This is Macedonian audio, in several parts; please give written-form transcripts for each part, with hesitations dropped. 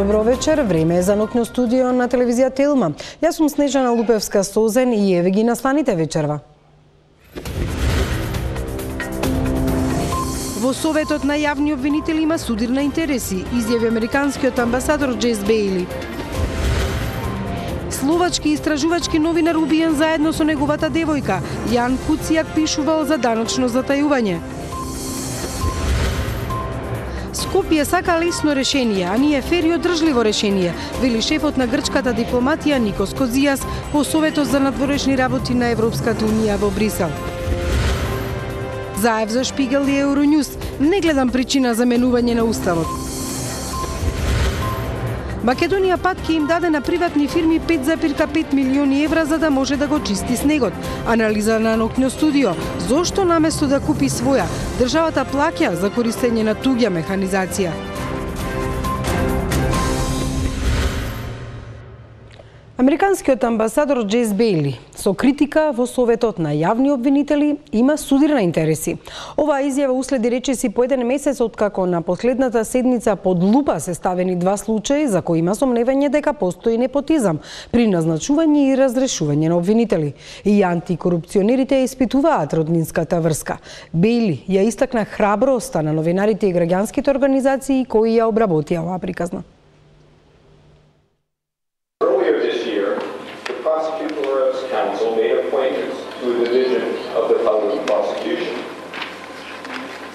Добро вечер, време е за ноќно студио на телевизија Телма. Јас сум Снежана Лупевска-Созен и еве ги настаните вечерва. Во Советот на јавни обвинители има судир на интереси, изјави американскиот амбасадор Джейс Бејли. Словачки истражувачки новинар убиен заедно со неговата девојка. Јан Куцијак пишувал за даночно затајување. Скопје сака лесно решение, а ние фер и одржливо решение, вели шефот на грчката дипломатија Никос Козијас по Советот за надворешни работи на Европската унија во Брисел. Заев за Шпигел и Евронјус, не гледам причина за менување на уставот. Македонија пат ќе им даде на приватни фирми 5,5 милиони евра за да може да го чисти снегот. Анализа на ноќно студио. Зошто наместо да купи своја, државата плаќа за користење на туѓа механизација? Американскиот амбасадор Джейс Бејли со критика во Советот на јавни обвинители има судир на интереси. Оваа изјава уследи речиси по еден месец откако на последната седница под лупа се ставени два случаи за кои има сомневање дека постои непотизам при назначување и разрешување на обвинители. И антикорупционерите ја испитуваат роднинската врска. Бејли ја истакна храброста на новинарите и граѓанските организации кои ја обработија оваа приказна.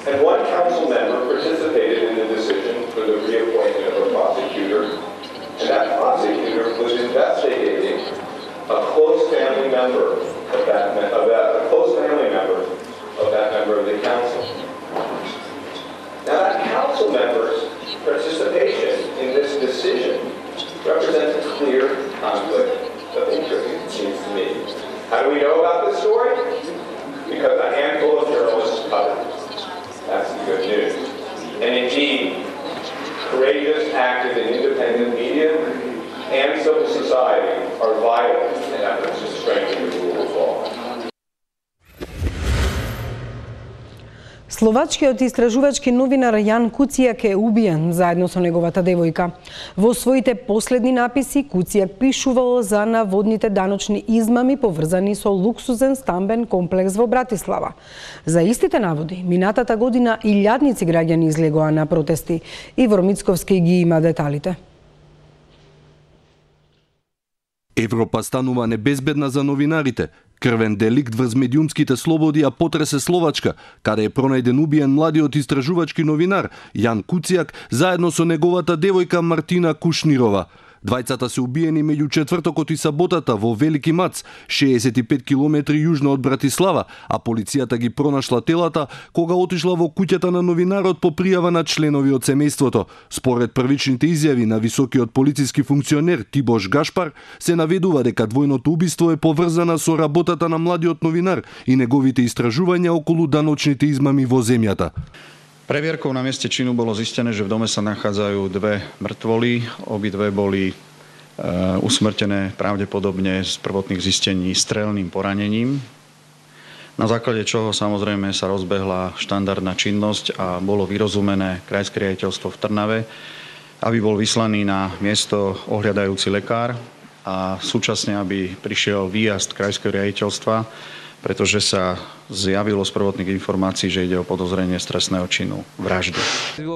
And one council member participated in the decision for the reappointment of a prosecutor, and that prosecutor was investigating a close family member of that member of the council. Now, that council member's participation in this decision represents a clear conflict of interest, it seems to me. How do we know about this story? Because a handful of journalists covered it. That's the good news. And indeed, courageous, active, and independent media and civil society are vital in efforts to strengthen the rule of law. Словачкиот истражувачки новинар Јан Куцијак е убиен заедно со неговата девојка. Во своите последни написи Куцијак пишувал за наводните даночни измами поврзани со луксузен стамбен комплекс во Братислава. За истите наводи, минатата година илјадници граѓани излегоа на протести. Ивор Мицковски ги има деталите. Европа станува небезбедна за новинарите. Крвен деликт врз медиумските слободи ја потресе Словачка, каде е пронајден убиен младиот истражувачки новинар Јан Куцијак заедно со неговата девојка Мартина Кушнирова. Двајцата се убиени меѓу четвртокот и саботата во Велики Мац, 65 километри јужно од Братислава, а полицијата ги пронашла телата кога отишла во куќата на новинарот по пријава на членови од семејството. Според првичните изјави на високиот полициски функционер Тибош Гашпар, се наведува дека двојното убиство е поврзана со работата на младиот новинар и неговите истражувања околу даночните измами во земјата. Previerkou na mieste činu bolo zistené, že v dome sa nachádzajú dve mŕtvoly. Obidve boli usmrtené pravdepodobne z prvotných zistení strelným poranením. Na základe čoho samozrejme sa rozbehla štandardná činnosť a bolo vyrozumené Krajské riaditeľstvo v Trnave, aby bol vyslaný na miesto ohľadajúci lekár a súčasne aby prišiel výjazd Krajského riaditeľstva, pretože sa zjavilo z prvotných informácií, že ide o podozrenie z trestného činu vraždy.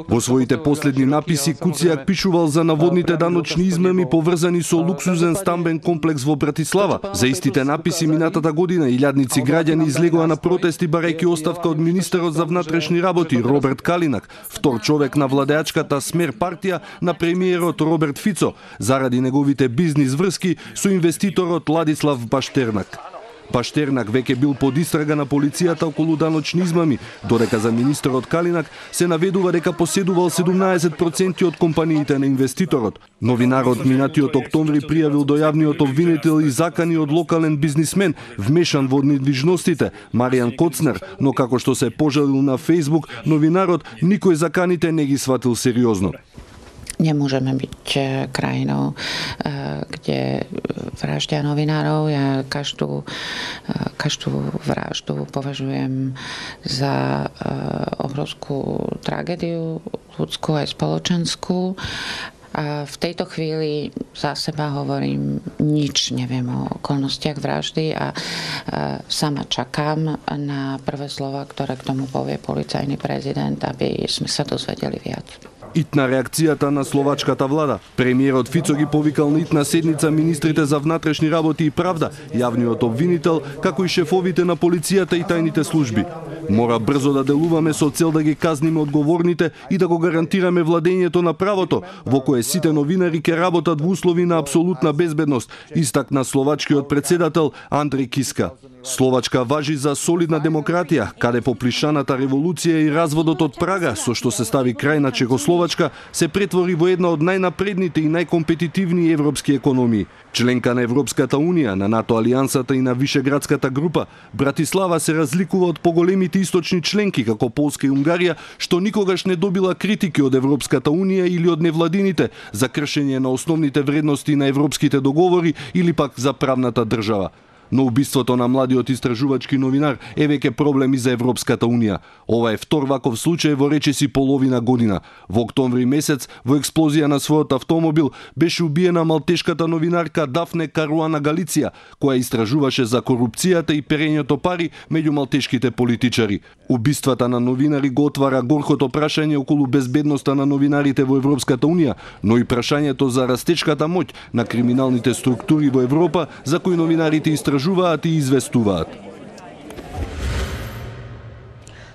Во своите последни написи Куцијак пишувал за наводните даночни измами поврзани со луксузен стамбен комплекс во Братислава. За истите написи минатата година илјадници граѓани излегоа на протести барајќи оставка од министерот за внатрешни работи Роберт Калинак, втор човек на владеачката Смер партија на премиерот Роберт Фицо, заради неговите бизнис врски со инвеститорот Ладислав Баштернак. Баштернак веќе бил под истрага на полицијата околу даночни измами, додека за министерот Калинак се наведува дека поседувал 17% од компаниите на инвеститорот. Новинарот минатиот октомври пријавил до јавниот обвинител и закани од локален бизнисмен вмешан во недвижностите, Маријан Коцнер, но како што се пожалил на Фејсбук, новинарот никој заканите не ги сватил сериозно. Nemôžeme byť krajinou, kde vraždia novinárov. Ja každú vraždu považujem za obrovskú tragédiu ľudskú aj spoločenskú. V tejto chvíli za seba hovorím, nič neviem o okolnostiach vraždy a sama čakám na prvé slova, ktoré k tomu povie policajný prezident, aby sme sa dozvedeli viac. Итна реакцијата на словачката влада. Премиерот Фицо ги повикал на итна седница министрите за внатрешни работи и правда, јавниот обвинител, како и шефовите на полицијата и тајните служби. Мора брзо да делуваме со цел да ги казниме одговорните и да го гарантираме владењето на правото, во кое сите новинари ќе работат во услови на апсолутна безбедност, истакна словачкиот председател Андреј Киска. Словачка важи за солидна демократија, каде по плишаната револуција и разводот од Прага, со што се стави крај на Чехословачка, се претвори во една од најнапредните и најкомпетитивни европски економии. Членка на Европската Унија, на НАТО алијансата и на Вишеградската група, Братислава се разликува од поголемите источни членки како Полска и Унгарија, што никогаш не добила критики од Европската Унија или од невладините за кршење на основните вредности на европските договори или пак за правната држава. Но убиството на младиот истражувачки новинар е веќе проблем и за Европската Унија. Ова е втор ваков случај во речиси половина година. Во октомври месец, во експлозија на својот автомобил, беше убиена малтешката новинарка Дафне Каруана Галиција, која истражуваше за корупцијата и перењето пари меѓу малтешките политичари. Убиствата на новинари го отвара горкото прашање околу безбедноста на новинарите во Европската Унија, но и прашањето за растечката моќ на криминалните структури во Европа, за кои новинарите истражуваат и известуваат.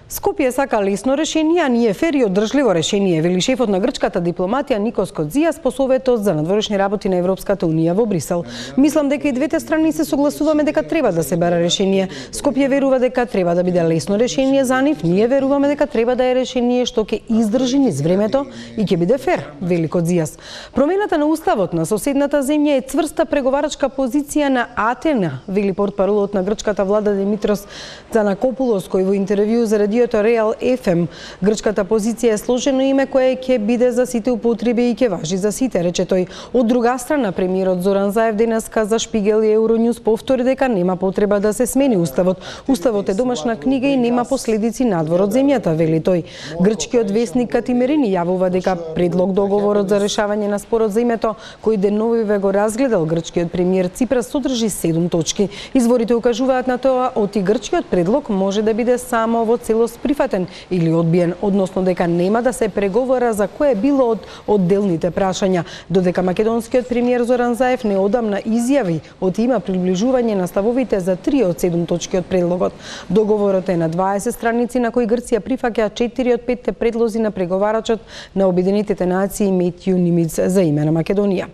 Скопје сака лесно решение, а ние фер и одржливо решение, вели шефот на грчката дипломатија Никос Кодзијас по советот за надворешни работи на Европската Унија во Брисел. Мислам дека и двете страни се согласуваме дека треба да се бара решение. Скопје верува дека треба да биде лесно решение за нив, ние веруваме дека треба да е решение што ќе издржи низ времето и ќе биде фер, вели Кодзијас. Промената на уставот на соседната земја е цврста преговарачка позиција на Атена, вели портпаролот на грчката влада Димитрос Цанакопулос, кој во интервју за радиото Реал FM, грчката позиција е сложено име кое ќе биде за сите употреби и ќе важи за сите, рече тој. Од друга страна, премиерот Зоран Заев денеска за Шпигел и Евронјус повтори дека нема потреба да се смени уставот. Уставот е домашна книга и нема последици надвор од земјата, вели тој. Грчкиот весник Катимерини јавува дека предлог договорот за решавање на спорот за името, кој деновиве го разгледал грчкиот премиер Ципрас, содржи 7 точки. Изворите укажуваат на тоа оти грчкиот предлог може да биде само во целост прифатен или одбиен, односно дека нема да се преговара за кое било од одделните прашања, додека македонскиот премиер Зоран Заев неодамна изјави од има приближување на ставовите за 3 од 7 точки од предлогот. Договорот е на 20 страници на кои Грција прифаќа 4 од 5 предлози на преговарачот на Обединетите нации Метју Нимиц за име на Македонија.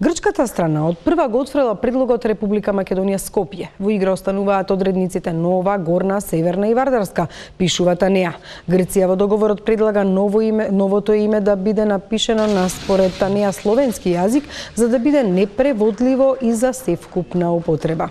Грчката страна од прва го отфрла предлогот Република Македонија Скопје. Во игра остануваат одредниците Нова, Горна, Северна и Вардарска, пишува Танеа. Грција во договорот предлага новото име да биде напишено на според Танеа словенски јазик, за да биде непреводливо и за севкупна употреба.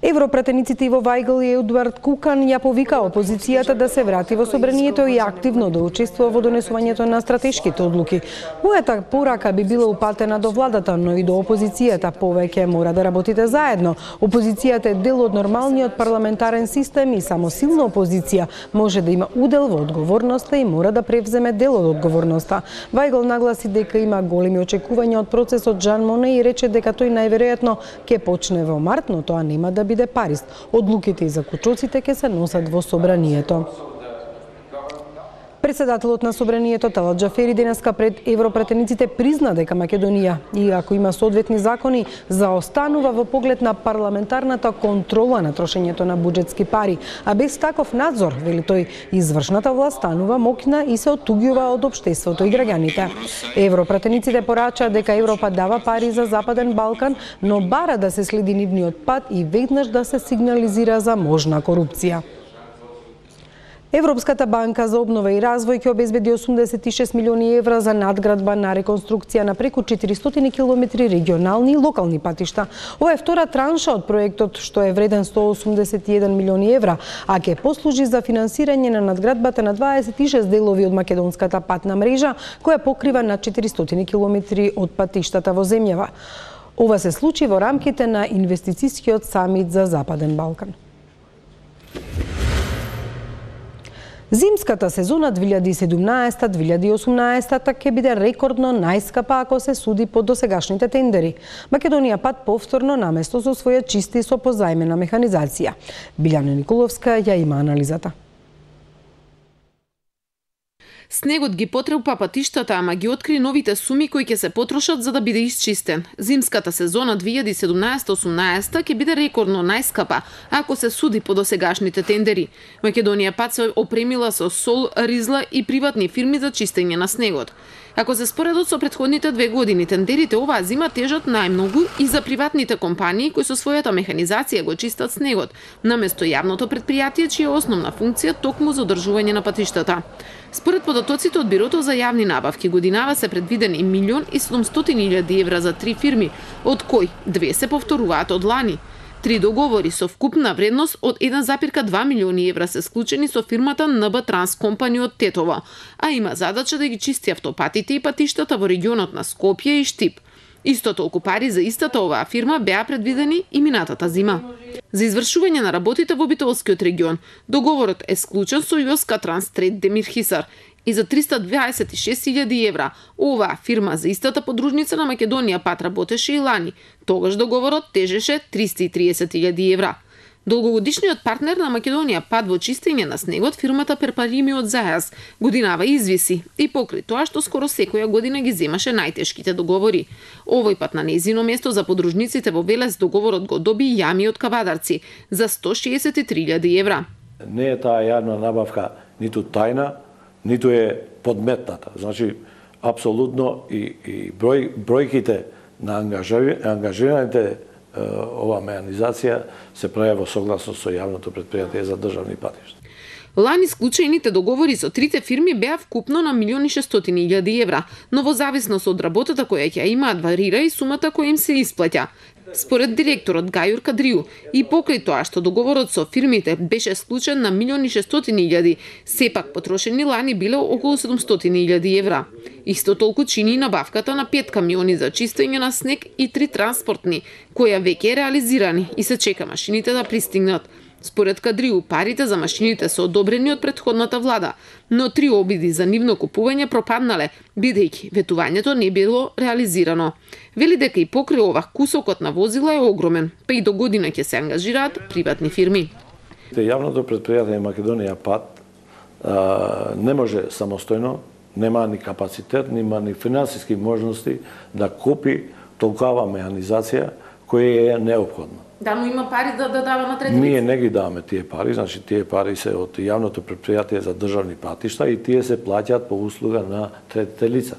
Европратениците Иво Вајгл и Едуард Кукан ја повика опозицијата да се врати во собранието и активно да учествува во донесувањето на стратешките одлуки. Мојата порака би била упатена до владата, но и до опозицијата. Повеќе мора да работите заедно. Опозицијата е дел од нормалниот парламентарен систем и само силна опозиција може да има удел во одговорноста и мора да превземе дел од одговорноста. Вајгл нагласи дека има големи очекувања од процесот Жан Моне и рече дека тој најверојатно ќе почне во март, но тоа нема да биде парист. Одлуките и закучоците ќе се носат во собранието. Председателот на собранието Талат Џафери денеска пред европратениците призна дека Македонија, иако има соодветни закони, заостанува во поглед на парламентарната контрола на трошењето на буџетски пари, а без таков надзор, вели тој, извршната власт станува моќна и се оттуѓува од општеството и граѓаните. Европратениците порачаат дека Европа дава пари за Западен Балкан, но бара да се следи нивниот пат и веднаш да се сигнализира за можна корупција. Европската банка за обнова и развој ќе обезбеди 86 милиони евра за надградба на реконструкција на преку 400 километри регионални и локални патишта. Ова е втора транша од проектот што е вреден 181 милиони евра, а ќе послужи за финансирање на надградбата на 26 делови од македонската патна мрежа, која покрива на 400 километри од патиштата во земјава. Ова се случи во рамките на инвестицијскиот самит за Западен Балкан. Зимската сезона 2017-2018 ќе биде рекордно најскапа ако се суди по досегашните тендери. Македонија пат повторно наместо со своја чисти со позајмена механизација. Билјана Николовска ја има анализата. Снегот ги потрепа патиштата, ама ги откри новите суми кои ќе се потрошат за да биде исчистен. Зимската сезона 2017-18 ќе биде рекордно најскапа ако се суди по досегашните тендери. Македонија пат се опремила со сол, ризла и приватни фирми за чистење на снегот. Ако се споредат со претходните 2 години, тендерите оваа зима тежат најмногу и за приватните компании кои со својата механизација го чистат снегот, наместо јавното предпријатие чија основна функција токму за одржување на патиштата. Според податоците од Бирото за јавни набавки, годинава се предвидени 1.700.000 евра за 3 фирми, од кои 2 се повторуваат од лани. 3 договори со вкупна вредност од 1,2 милиони евра се склучени со фирмата НБ Транс Компани од Тетово, а има задача да ги чисти автопатите и патиштата во регионот на Скопје и Штип. Исто толку пари за истата оваа фирма беа предвидени и минатата зима. За извршување на работите во Битолскиот регион, договорот е склучен со Јоска Транс Трейд Демир Хисар и за 326.000 евра. Оваа фирма за истата подружница на Македонија пат работеше и лани. Тогаш договорот тежеше 330.000 евра. Долгогодишниот партнер на Македонија пат во чистење на снегот, фирмата Перпарими од Зајаз, годинава извиси и покри тоа што скоро секоја година ги земаше најтешките договори. Овој пат на нејзино место за подружниците во Велес договорот го доби Јами од Кавадарци за 163.000 евра. Не е таа јавна набавка ниту тајна, ниту е подметната. Значи, апсолутно и бројките на ангажираните ова механизација се прави во согласност со јавното предпријатие за државни патишта. Лани склучените договори со трите фирми беа вкупно на 1.600.000 евра, но во зависност од работата која ќе имаат варира и сумата која им се исплаќа. Според директорот Гајур Кадриу, и покрај тоа што договорот со фирмите беше склучен на 1.600.000, сепак потрошени лани биле околу 700.000 евра. Исто толку чини и набавката на 5 камиони за чистење на снег и 3 транспортни, која веќе е реализирани и се чека машините да пристигнат. Според Кадриу, парите за машините се одобрени од претходната влада, но 3 обиди за нивно купување пропаднале, бидејќи ветувањето не било реализирано. Вели дека и покрај ова кусокот на возила е огромен, па и до година ќе се ангажираат приватни фирми. Јавното предпријатие Македонија пат не може самостојно, нема ни капацитет, нема ни финансиски можности да купи толкова механизација која е неопходна. Да, но има пари да дава на трети лица. Ние не ги даваме тие пари, значи тие пари се од јавното предпријатие за државни патишта и тие се плаќаат по услуга на третите лица.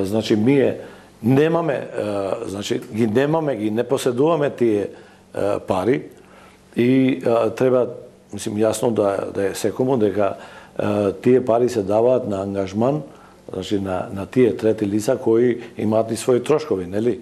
Значи ние немаме, ги не поседуваме тие пари и треба, мислим, јасно да е секому дека тие пари се даваат на ангажман, значи на тие трети лица кои имаат и своји трошкови, нели?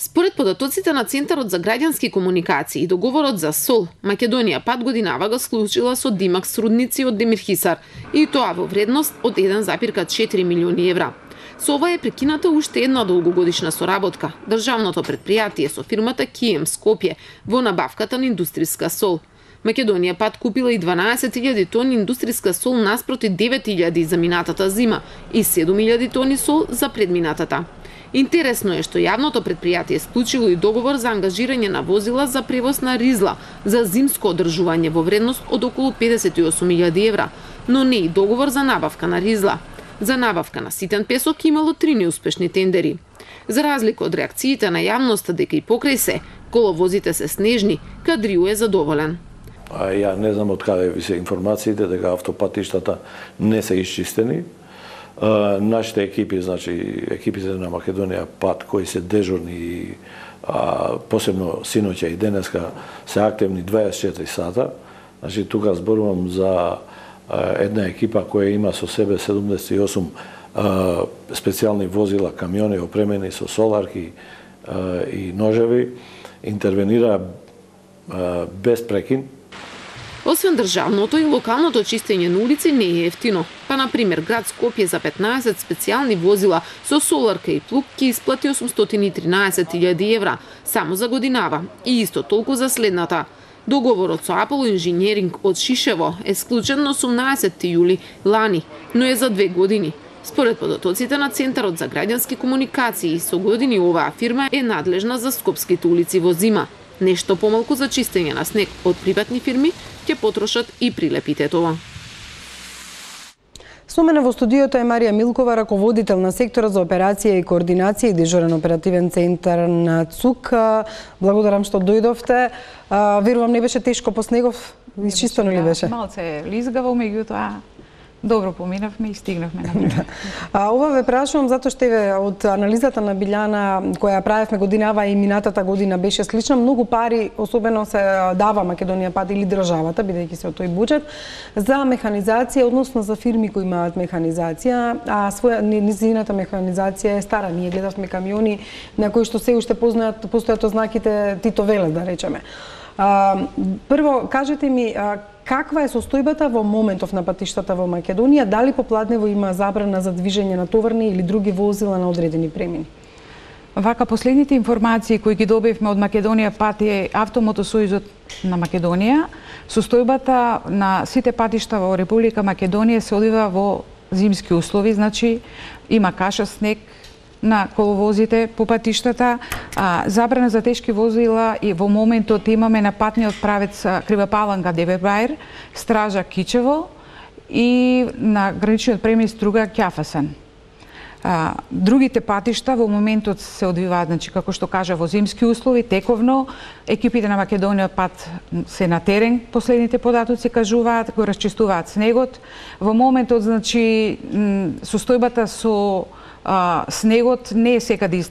Според податоците на Центарот за граѓански комуникации, договорот за сол, Македонија пат годинава го склучила со Димакс рудници од Демир Хисар, и тоа во вредност од 1,4 милиони евра. Со ова е прекината уште една долгогодишна соработка, државното предпријатие со фирмата Кием Скопје во набавката на индустријска сол. Македонија пат купила и 12.000 тони индустријска сол наспроти 9.000 за минатата зима и 7.000 тони сол за предминатата. Интересно е што јавното предпријатие склучило и договор за ангажирање на возила за превоз на ризла за зимско одржување во вредност од околу 58.000 евра, но не и договор за набавка на ризла. За набавка на ситен песок имало 3 неуспешни тендери. За разлика од реакциите на јавноста дека и покрај се, коловозите се снежни, Кадриу е задоволен. Ја не знам од каде ви се информациите дека автопатиштата не се исчистени. Нашите екипи, значи екипите на Македонија пат кои се дежурни и посебно синоќа и денеска се активни 24 сата. Значи тука зборувам за една екипа која има со себе 78 специјални возила, камиони опремени со соларки и ножеви, интервенира без прекин. Освен државното и локалното чистење на улици не е ефтино. Па, например, град Скопје за 15 специјални возила со соларка и плуг ќе исплати 813.000 евра само за годинава и исто толку за следната. Договорот со Apollo Engineering од Шишево е склучен на 18 јули лани, но е за 2 години. Според податоците на Центарот за граѓански комуникации, со години оваа фирма е надлежна за скопските улици во зима. Нешто помалку за чистење на снег од приватни фирми ќе потрошат и прилепитетово. Со мене во студиото е Марија Милкова, раководител на сектора за операција и координација и дежурен оперативен центар на ЦУК. Благодарам што дојдовте. Верувам не беше тешко по снегов, изчистено ли беше? Малце лизгаво, меѓутоа добро поминавме и стигнавме на време. Ова ве прашувам затоа што од анализата на Билјана која правевме годинава и минатата година беше слична, многу пари особено се дава Македонија пат или државата, бидејќи се од тој буџет, за механизација, односно за фирми кои имаат механизација, а низината механизација е стара. Ние гледавме камиони на кои што се уште постојат ознаките Тито Велес, да речеме. Прво, кажете ми, каква е состојбата во моментов на патиштата во Македонија? Дали по Пладнево има забрана за движење на товарни или други возила на одредени премини? Вака, последните информации кои ги добивме од Македонија пат и Автомотосојузот на Македонија, состојбата на сите патишта во Република Македонија се одвива во зимски услови, значи има каша, снег на коловозите по патиштата, забрана за тешки возила и во моментот имаме на патниот правец Кривапаланга Девебајр, Стража Кичево и на граничниот премис Струга Ќафасен. Другите патишта во моментот се одвиваат, значи како што кажа, во зимски услови, тековно. Екипите на Македонија пат се на терен, последните податоци кажуваат, го расчистуваат снегот. Во моментот, значи, состојбата со снегот не е секаде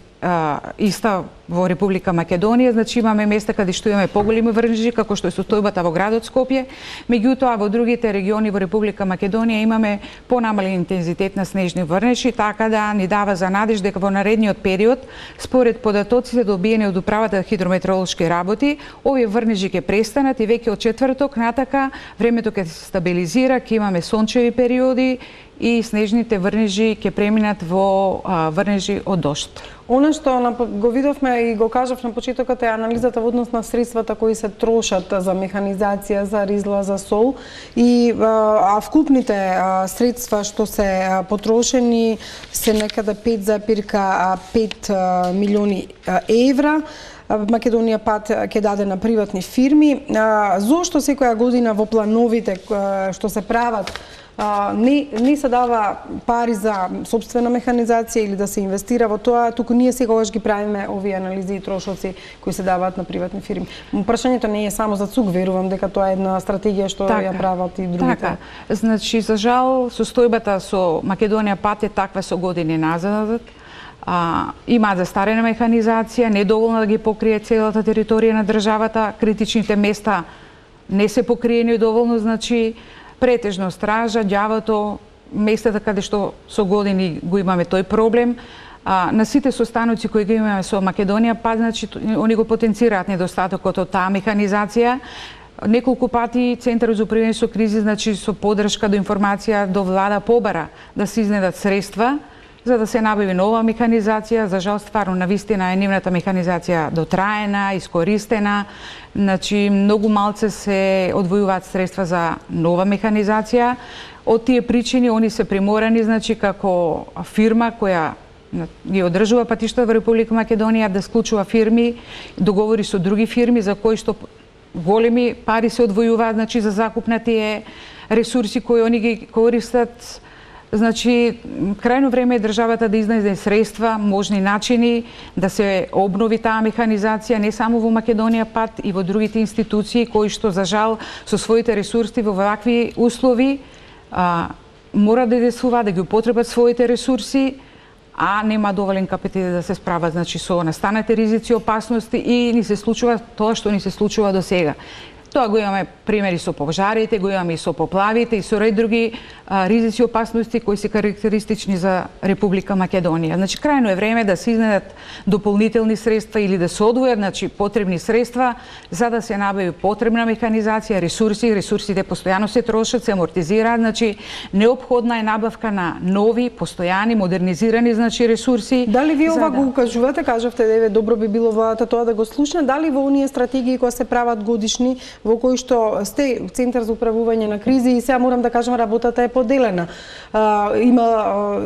иста во Република Македонија, значи имаме места каде што имаме поголеми врнежи, како што е состојбата во градот Скопје, меѓутоа во другите региони во Република Македонија имаме понамален интензитет на снежни врнежи, така да ни дава за надеж дека во наредниот период, според податоците добиени од Управата за хидрометеоролошки работи, овие врнежи ќе престанат и веќе од четврток натака времето ќе се стабилизира, ќе имаме сончеви периоди и снежните врнежи ќе преминат во врнежи од дожд. Она што го видовме и го кажав на почетокот е анализата во однос на средствата кои се трошат за механизација, за ризла, за сол и вкупните средства што се потрошени се некаде 5,5 милиони евра. Македонија пат ќе даде на приватни фирми. Зошто секоја година во плановите што се прават не се дава пари за собствена механизација или да се инвестира во тоа, туку ние секогаш ги правиме овие анализи и трошоци кои се даваат на приватни фирми. Прашањето не е само за ЦУК, верувам дека тоа е една стратегија што ја прават и другите. Така, значи за жал состојбата со Македонија пат е таква со години назад. Имаат застарена механизација, недоволна да ги покрие целата територија на државата, критичните места не се покриени доволно, значи претежно Стража, Ѓавото, местата каде што со години го имаме тој проблем. На сите состаноци кои ги имаме со Македонија, значи они го потенцираат недостатокот од таа механизација. Неколку пати Центарот за управување со кризи, значи со подршка до информација до влада побара да се изнедат средства за да се набави нова механизација. За жал, стварно, навистина е нивната механизација дотраена, искористена. Значи, многу малце се одвојуваат средства за нова механизација. Од тие причини, они се приморани, значи, како фирма која ги одржува патишта во Република Македонија да склучува фирми, договори со други фирми за кои што големи пари се одвојуваат, значи, за закуп на тие ресурси кои они ги користат. Значи, крајно време е државата да изнайде средства, можни начини да се обнови таа механизација не само во Македонија пат и во другите институции кои што за жал со своите ресурси во вакви услови мора да действуваат, да ги употребат своите ресурси, а нема доволен капацитет да се справат, значи, со настанати ризици, опасности и ни се случува тоа што ни се случува до сега. Тоа го имаме примери со пожарите, го имаме и со поплавите и со ред други ризици и опасности кои се карактеристични за Република Македонија. Значи, крајно е време да се изнедат дополнителни средства или да се одвојат, значи, потребни средства за да се набави потребна механизација, ресурсите постојано се трошат, се амортизираат, значи, неопходна е набавка на нови, постојани, модернизирани, значи, ресурси. Дали ви ова го укажувате, кажавте, добро би било владата тоа да го слушне, дали во оние стратегии кои се прават годишни во кој што сте Центар за управување на кризи и сега морам да кажам работата е поделена.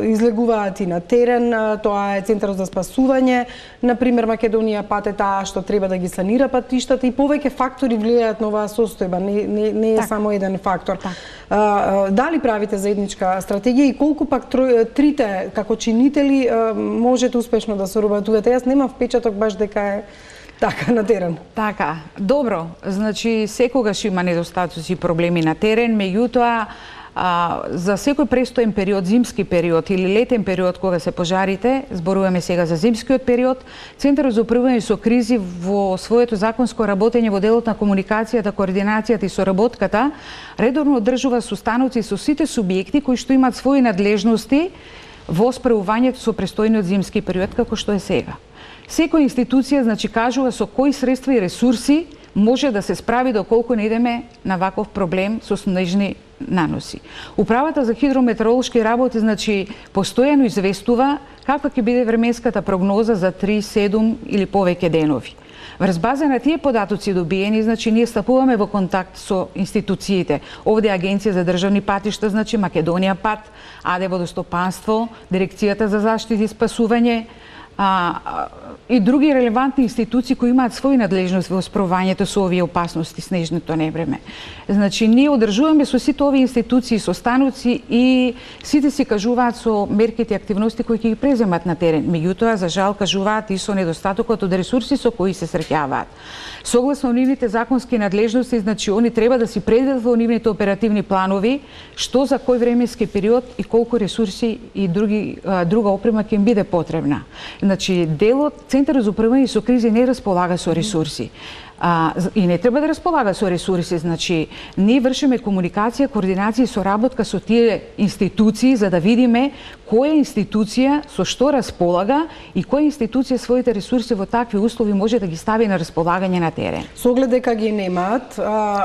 Излегуваат и на терен, тоа е Центарот за спасување, например Македонија пат е таа што треба да ги санира патиштата и повеќе фактори влијаат на оваа состојба, не е само еден фактор. Дали правите заедничка стратегија и колку пак трите како чинители можете успешно да соработувате? Јас немам впечаток баш дека е така на терен. Така, добро. Значи секогаш има недостатоци и проблеми на терен, меѓутоа за секој престоен период, зимски период или летен период кога се пожарите, зборуваме сега за зимскиот период, Центарот за управување со кризи во своето законско работење во делот на комуникацијата, координацијата и соработката редовно одржува состаноци со сите субјекти кои што имаат своји надлежности во справувањето со престојниот зимски период како што е сега. Секоја институција значи кажува со кои средства и ресурси може да се справи доколку не идеме на ваков проблем со снежни наноси. Управата за хидрометеоролошки работи значи постојано известува каква ќе биде временската прогноза за 3, 7 или повеќе денови. Врз база на тие податоци добиени, значи ние стапуваме во контакт со институциите. Овде Агенција за државни патишта, значи Македонија пат, АД водостопанство, Дирекцијата за заштита и спасување, и други релевантни институции кои имаат своји надлежности во справувањето со овие опасности снежното невреме. Значи ние одржуваме со сите овие институции состаноци и сите си кажуваат со мерките и активности кои ќе ги преземат на терен. Меѓутоа за жал кажуваат и со недостатокот од ресурси со кои се среќаваат. Согласно нивните законски надлежности, значи они треба да си предвидат во нивните оперативни планови што за кој временски период и колку ресурси и друга опрема ќе им биде потребна. Значи делот Центарот за управување со кризи не располага со ресурси. И не треба да располага со ресурси, значи ние вршиме комуникација, координација и соработка со тие институции за да видиме која институција со што располага и која институција своите ресурси во такви услови може да ги стави на располагање на терен. Со оглед дека ги немаат,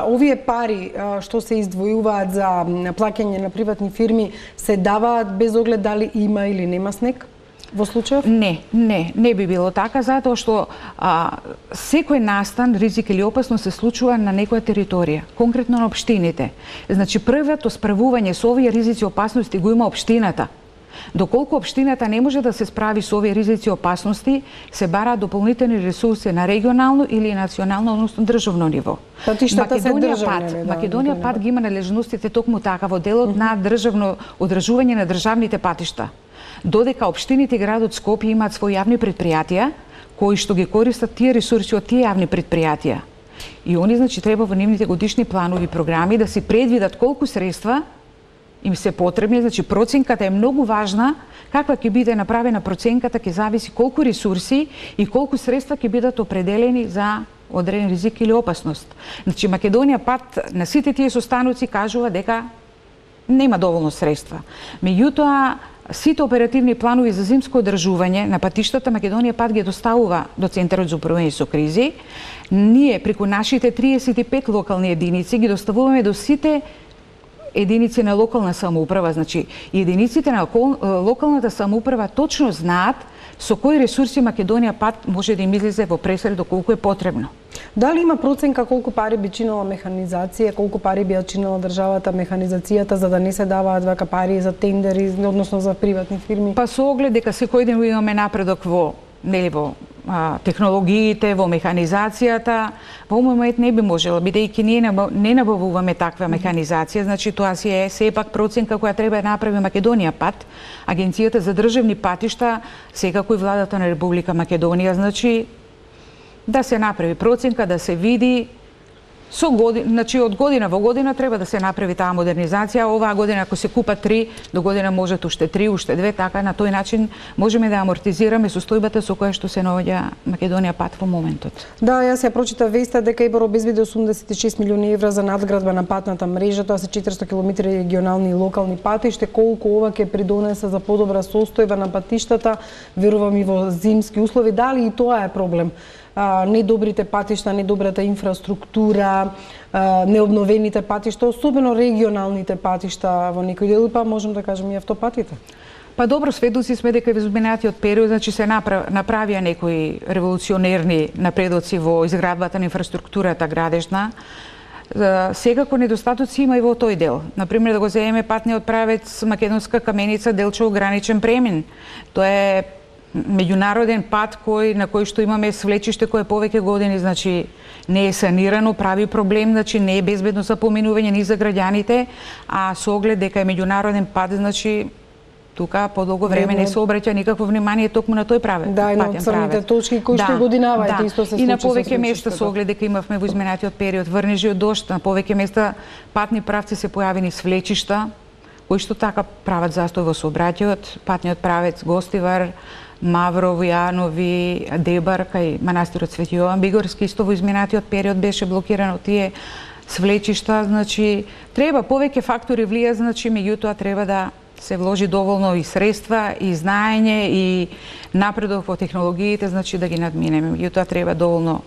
овие пари што се издвојуваат за плаќање на приватни фирми се даваат без оглед дали има или нема снег? Во случајов? Не би било така, затоа што секој настан, ризик или опасност се случува на некоја територија, конкретно на општините. Значи првото справување со овие ризици и опасности го има општината. Доколку општината не може да се справи со овие ризици и опасности, се бараат дополнителни ресурси на регионално или национално, односно државно ниво. Македонија пат ги има надлежностите токму така во делот на државно одржување на државните патишта. Додека општините и градот Скопје имаат своји јавни предпријатија кои што ги користат тие ресурси од тие јавни предпријатија. И они значи треба во нивните годишни планови и програми да си предвидат колку средства им се потребни, значи проценката е многу важна, каква ќе биде направена проценката ќе зависи колку ресурси и колку средства ќе бидат определени за одреден ризик или опасност. Значи Македонија пат на сите тие состаноци кажува дека нема доволно средства. Меѓутоа сите оперативни планови за зимско одржување на патиштата Македонија пат ги доставува до Центарот за управување со кризи. Ние преку нашите 35 локални единици ги доставуваме до сите единици на локална самоуправа, значи единиците на локалната самоуправа точно знаат со кои ресурси Македонија пат може да им излезе во пресред доколку е потребно. Дали има проценка колку пари би чинела механизација, колку пари би ја чинела државата механизацијата за да не се даваат вака пари за тендери, односно за приватни фирми? Па со оглед дека секој ден имаме напредок во технологиите, во механизацијата, во момент не би можела, бидејќи ние не набавуваме таква механизација, значи тоа си е сепак проценка која треба да направи Македонија пат. Агенцијата за државни патишта, секако и владата на Република Македонија, значи да се направи проценка, да се види значи од година во година треба да се направи таа модернизација. Оваа година ако се купат 3, до година можат уште 3, уште 2, така на тој начин можеме да амортизираме состојбата со која што се наоѓа Македонија пат во моментот. Да, јас ја прочитав веста дека ИБОР обезбеди 86 милиони евра за надградба на патната мрежа, тоа се 400 км регионални и локални патишта. Колку ова ќе придонесе за подобра состојба на патиштата, верувам и во зимски услови, дали и тоа е проблем? Недобрите патишта, недобрата инфраструктура, необновените патишта, особено регионалните патишта во некој дел, па можем да кажем и автопатите. Па добро, сведоци сме дека во изминатиот период, значи се направија некои револуционерни напредоци во изградбата на инфраструктурата градежна. Секако недостатоци има и во тој дел. Например, да го земеме патниот правец Македонска Каменица Делчево граничен премин. Тоа е меѓународен пат на кој што имаме свлечиште кое повеќе години, значи не е санирано, прави проблем, значи не е безбедно за поминување ни за граѓаните, а со оглед дека е меѓународен пат, значи тука подолго време не се обраќа никакво внимание токму на тој правец. Да, и на црните точки кои што годинавајте исто се случи. И на повеќе места со оглед дека имавме во изминатиот период врнежи од дожд, на повеќе места патни правци се појавени свлечишта, кои што така прават застој во сообраќајот, патниот правец Гостивар, Маврово, Јанови, Дебар, кај манастирот Свети Јован Бигорски, исто во изминатиот период беше блокирано тие свлечишта, значи треба повеќе фактори влијаат, значи меѓутоа треба да се вложи доволно и средства, и знаење, и напредок во технологиите, значи да ги надминеме. Меѓутоа треба доволно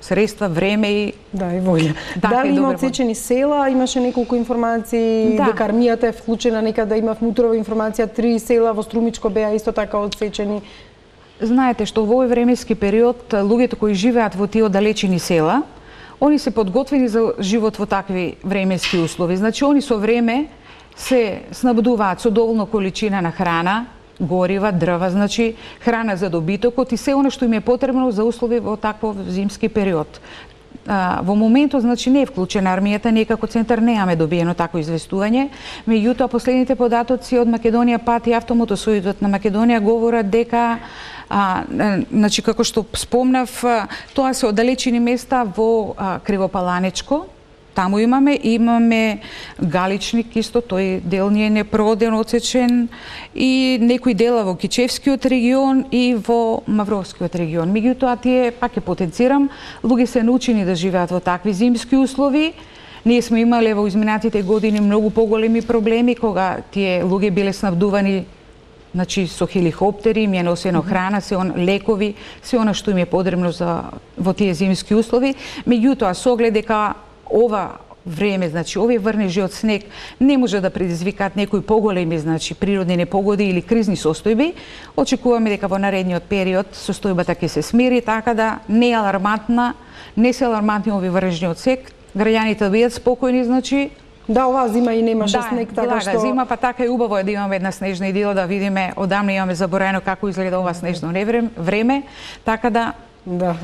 средства, време и и волја. Дали има отсечени села? Имаше неколку информации дека армијата е вклучена, некаде има внутрова информација, 3 села во Струмичко беа исто така отсечени. Знаете што во овој временски период луѓето кои живеат во тие оддалечени села, они се подготвени за живот во такви временски услови. Значи они со време се снабдуваат со доволно количина на храна, горива, дрва, значи храна за добитокот и се она што им е потребно за услови во таков зимски период. Во моментот, значи, не е вклучена армијата, ние како центар немаме добиено такво известување, меѓутоа последните податоци од Македонија пат и Автомотосојузот на Македонија говорат дека значи како што спомнав, тоа се оддалечени места во Кривопаланечко. Таму имаме Галичник исто, тој дел ни е непроден, отсечен, и некои дела во Кичевскиот регион и во Мавровскиот регион. Меѓутоа тие, пак ќе потенцирам, луѓе се научени да живеат во такви зимски услови. Ние сме имале во изминатите години многу поголеми проблеми кога тие луѓе биле снабдувани, значи со хеликоптери, им е носено храна, лекови, се она што им е потребно во тие зимски услови. Меѓутоа со оглед дека ова време, значи овие врнежи од снег не може да предизвикаат некои поголеми, значи природни непогоди или кризни состојби, очекуваме дека во наредниот период состојбата ќе се смири, така да не е алармантна, не се алармантни овие врнежи од снег, граѓаните да бидат спокојни, значи да, оваа зима и немаше снег, така што зима, па така е убаво да имаме една снежна идила, да видиме, одамна имаме забораено како изгледа ова снежно време, така да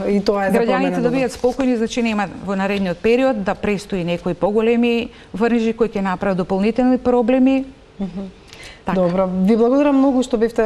и тоа е за граѓаните да бидат спокојни, значи нема во наредниот период да престои некои поголеми врнежи кои ќе направат дополнителни проблеми. Така. Добро, ви благодарам многу што бевте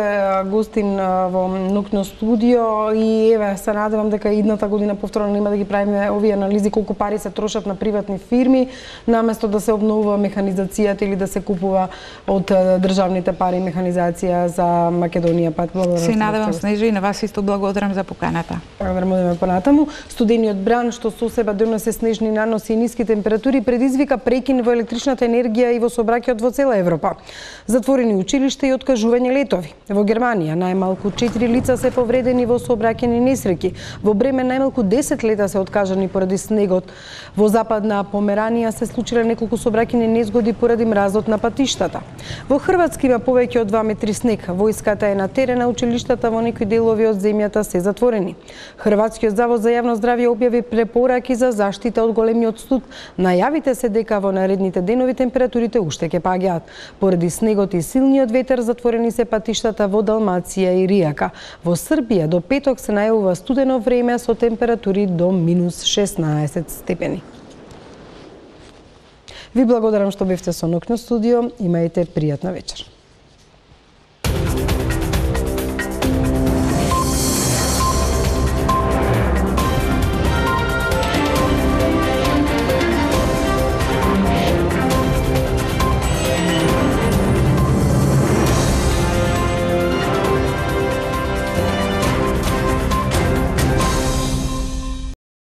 гостин во Ноќно студио и еве се надевам дека идната година повторно нема да ги правиме овие анализи колку пари се трошат на приватни фирми наместо да се обновува механизацијата или да се купува од државните пари механизација за Македонија. Благодарам. Се надевам, Снежа, и на вас исто благодарам за поканата. Благодарам понатаму. Студениот бран што со себе донесе снежни наноси и ниски температури предизвика прекин во електричната енергија и во сообраќајот во цела Европа. Затворени училишта и откажување летови. Во Германија најмалку 4 лица се повредени во сообраќајни несреќи. Во Бремен најмалку 10 лета се откажани поради снегот. Во Западна Померанија се случиле неколку сообраќајни незгоди поради мразот на патиштата. Во Хрватска има повеќе од 2 метри снег. Војската е на терен, а училиштата во некои делови од земјата се затворени. Хрватскиот завод за јавно здравје објави препораки за заштита од големиот студ. Најавите се дека во наредните денови температурите уште ќе паѓаат. Поради снегот и силниот ветер затворени се патиштата во Далмација и Ријака. Во Србија до петок се најавува студено време со температури до минус 16 степени. Ви благодарам што бевте со Ноќно студио. Имајте пријатна вечер.